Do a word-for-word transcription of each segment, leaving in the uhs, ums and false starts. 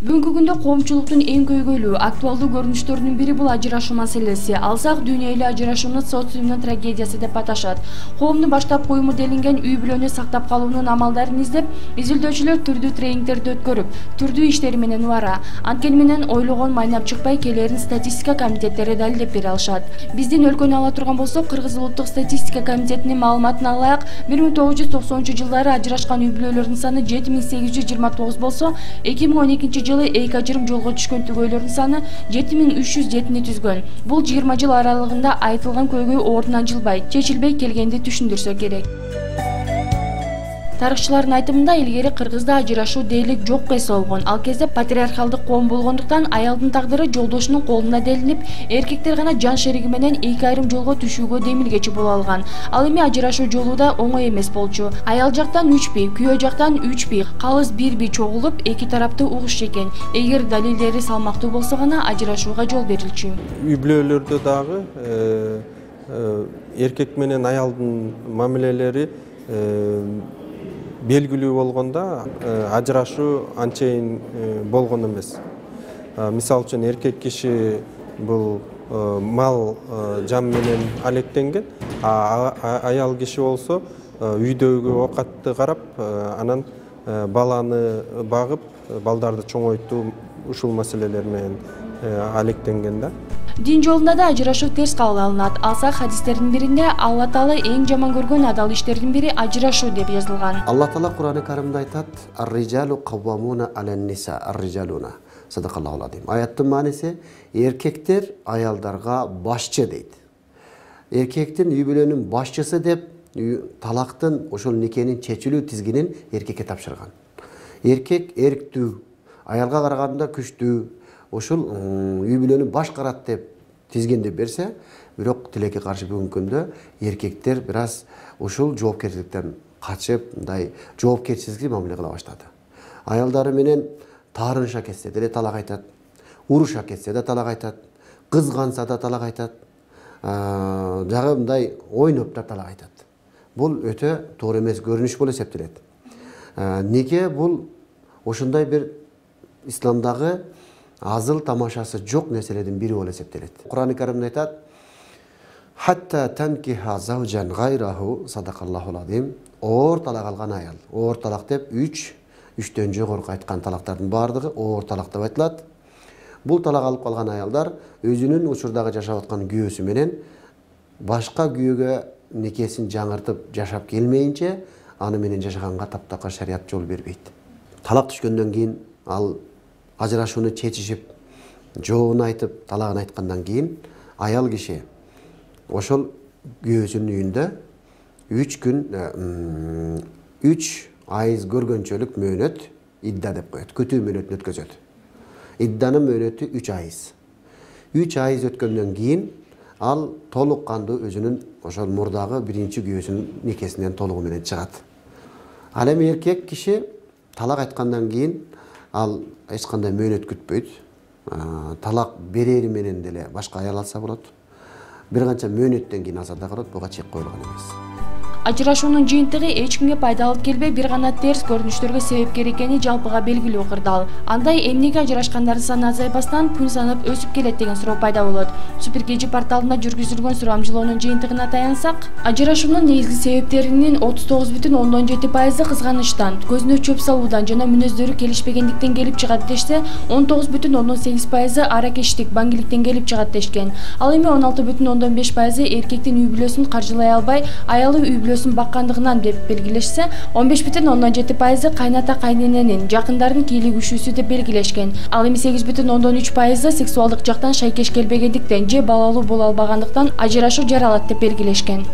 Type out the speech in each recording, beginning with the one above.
Бүгүнкү күндө коомчулуктун эң көйгөйлүү, актуалдуу көрүнүштөрүнүн бири бул ажырашуу маселеси. Алсак дүйнөлүк ажырашууну социумдун трагедиясы деп аташат. Коомдун баштапкы уюму делинген үй бүлөнү сактап калуунун амалдарын издеп, изилдөөчүлөр түрдүү тренингтерди өткөрүп, түрдүү иштери менен убара. Анткени менен ойлогон майнап чыкпай, келерин статистика комитеттери далилдеп бере алышат. Биздин өлкөнү ала турган болсок, Кыргыз улуттук статистика комитетинин маалыматына алайык, бир миң тогуз жүз токсонунчу жылдары ажырашкан үй бүлөлөрдүн саны жети миң сегиз жүз жыйырма тогуз болсо, эки миң он экинчи жылы эки ажырым жолго түшкөн түгөйлөрдүн саны жети миң үч жүз жетини түзгөн. Бул жыйырма жыл аралыгында айтылган көйгөй ордунан жылбай, чечилбей келгенди түшүндүрсө керек. Тарыхчылардын айтымында илгери Кыргызда ажырашуу дээрлик жок эсеолгон. Ал кезде патриархалдык коом болгондуктан аялдын тагдыры жолдошунун колунда делинип, эркектер гана жан шериги менен эки айрым жолго түшүүгө демилгечи боло алган. Ал эми ажырашуу жолу да оңой эмес болчу. Аял жактан үч бий, күйөө жактан үч бий, калыс бир бий чогулуп, эки тарапты угушчу экен. Эгер далилдери салмактуу болсо гана ажырашууга жол берилчү. Үй бүлөлөрдө дагы эркек менен аялдын мамилелери белгилүү болгондо ажырашуу анчейин болгон эмес. Мисалы үчүн эркек киши бул мал жан менен алектенген, а аял киши болсо үйдөгү оокатты карап, анан баланы багып, балдарды чоңойтуу ушул маселелер менен алектенген да. Дин жолунда да ажырашуу терс кабыл алынат. Алсак хадистердин биринде Алла Таала эң жаман көргөн адал иштердин бири ажырашуу деп жазылган. Алла Таала Кур'ан-ы Каримде айтат: "Ар-риджалу каввамуна алан-ниса, ар-риджалуна". Садакаллахул азим. Аяттын мааниси эркектер аялдарга башчы дейт. Эркектин үй бүлөнүн башчысы деп талактын, ошол никенин чечилүү тизгинин эркекке тапшырган. Эркек эрктүү, аялга караганда күчтүү, ошол үй бүлөнү баш карат деп тизгинди берсе, бирок тилекке каршы бүгүнкү күндө эркектер бир аз ушул жоопкерчиликтен качып, мындай жоопкерчиликсиз мамиле кыла баштады. Аялдары менен таарыныша кетсе деле талак айтат, уруша кетсе да талак айтат, кызганса да талак айтат, жагы мындай ойноп да талак айтат. Бул өтө туура эмес көрүнүш болуп эсептелет. Неге бул ошондой бир исламдагы азыл тамашасы жок нерселердин бири болуп эсептелет. Кур'ан-ы Каримде айтат: "Хатта танкиха завжан гайраху", садакаллахул азим. Оор талак алган аял. Оор талак деп үч, үчтөн жогорку айткан талактардын баардыгы оор талак деп айтылат. Бул талак алып калган аялдар өзүнүн учурдагы жашап аткан күйөөсү менен башка күйөөгө никесин жаңыртып жашап келмейинче аны менен жашаганга таптакыр шарият жол бербейт. Талак түшкөндөн кийин ал ажырашууну чечишип, жообун айтып, талагын айткандан кийин аял киши ошол күйөөсүнүн үйүндө үч күн, үч айыз көргөнчөлүк мөөнөт идда деп коет. Күтүү мөөнөтүн өткөзөт. Идданын мөөнөтү үч айыз. үч айыз өткөндөн кийин ал толук кандуу өзүнүн ошол мурдагы биринчи күйөөсүнүн никесинен толугу менен чыгат. Ал эми эркек киши талак айткандан кийин ал эч кандай мөөнөт күтпөйт. Талак берери менен деле башка аял алса болот. Бир канча мөөнөттөн кийин алса да болот, буга чек коюлган эмес. Ажырашуунун жыйынтыгы эч кимге пайда алып келбей, бир гана терс көрүнүштөргө себепкер экени жалпыга белгилүү кырдаал. Андай эмнеге ажырашкандардын саны азайбастан күн санап өсүп келет деген суроо пайда болот. Супер кей жи порталында жүргүзүлгөн сурамжылоонун жыйынтыгына таянсак, ажырашуунун негизги себептеринин отуз тогуз бүтүн ондон жети пайызы кызганычтан, көзүнө чөп салуудан жана мүнөздөрү келишпегендиктен келип чыгат дешсе, он тогуз бүтүн ондон сегиз пайызы аракештик, баңгиликтен келип чыгат дешкен. Ал эми он алты бүтүн ондон беш пайызы эркектин үй бүлөсүн каржылай албай, аялы үй бүлөсүн баккандыгынан деп белгилешсе, он беш бүтүн ондон жети пайызы кайната кайнененин, жакындардын кийлигишүүсү деп белгилешкен. Ал эми сегиз бүтүн ондон үч пайызы сексуалдык жактан шайкеш келбегендиктен же балалуу боло албагандыктан ажырашуу жаралат деп белгилешкен.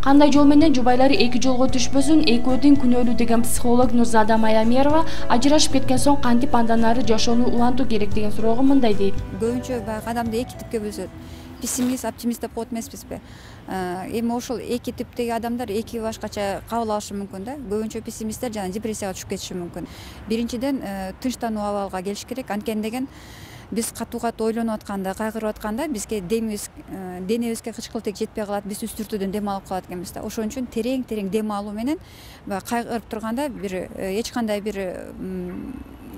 Кандай жол менен жубайлар эки жолго түшпөсүн, экөөдүн күнөөлүү деген психолог Нурзада Майамерова ажырашып кеткен соң кантип андан ары жашоону улантуу керек деген суроого мындай дейт. Көбүнчө баягы адамды эки типке бөлүшөт. Пессимист, оптимист деп коет эмеспизби? Эми ошол эки типтеги адамдар эки башкача кабыл алышы мүмкүн да. Көбүнчө пессимисттер жана депрессияга түшүп кетиши мүмкүн. Биринчиден тынчтануу абалга келиш керек. Анткени деген биз катуу катуу ойлонуп атканда, кайгырып атканда бизге демибиз, денебизге кычкылтек жетпей калат, биз үстүртүүдөн дем алып калат экенбиз да. Ошон үчүн терең терең дем алуу менен баягы кайгырып турганда бир эч кандай бир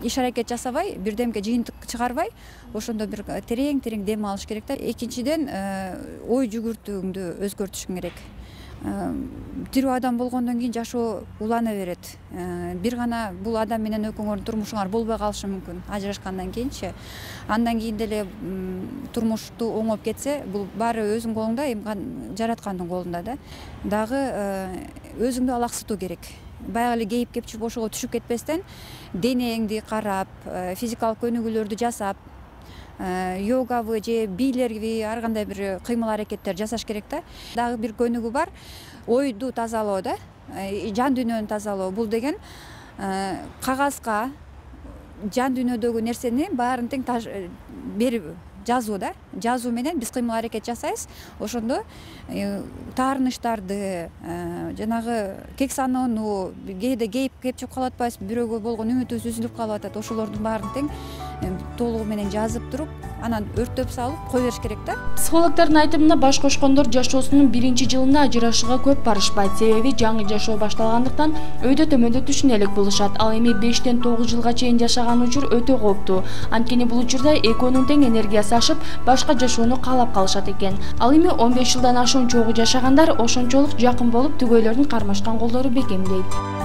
иш аракет жасабай, бирдемге жыйынтык чыгарбай, ошондо бир терең терең дем алыш керек да. Экинчиден, ой жүгүртүүңдү өзгөртүшүң керек. Тирүү адам болгондон кийин жашоо улана берет. Бир гана бул адам менен экөөңөрдүн турмушуңар болбой калышы мүмкүн ажырашкандан кийинчи. Андан кийин деле турмушту оңоп кетсе, бул баары өзүңдүн колуңда, эми жараткандын колунда да. Дагы өзүңдү алаксытуу керек. Баягы эле кейип кепчип ошого түшүп кетпестен, денеңди карап, физикалык көнүгүүлөрдү жасап, йогабы же бийлерби, ар кандай бир кыймыл аракеттер жасаш керек да. Дагы бир көнүгүү бар, ойду тазалоо да, жан дүйнөнү тазалоо. Бул деген кагазга жан дүйнөдөгү нерсени баарын тең берип жазуу да. Жазуу менен биз кыймыл аракет жасайбыз. Ошондо таарынычтарды, жанагы кек саноону, кээде кейип кепчип калып атпайбызбы, бирөөгө болгон үмүтүбүз үзүлүп калып атат. Ошолордун баарын тең толугу менен жазып туруп, анан өрттөп салып кое бериш керек да. Психологдордун айтымында баш кошкондор жашоосунун биринчи жылында ажырашууга көп барышпайт. Себеби жаңы жашоо башталгандыктан өйдө төмөндө түшүнө элек болушат. Ал эми бештен тогуз жылга чейин жашаган учур өтө кооптуу. Анткени бул учурда экөөнүн тең энергиясы ашып, башка жашоону каалап калышат экен. Ал эми он беш жылдан ашуун чогуу жашагандар ошончолук жакын болуп, түгөйлөрдүн кармашкан колдору бекемдейт.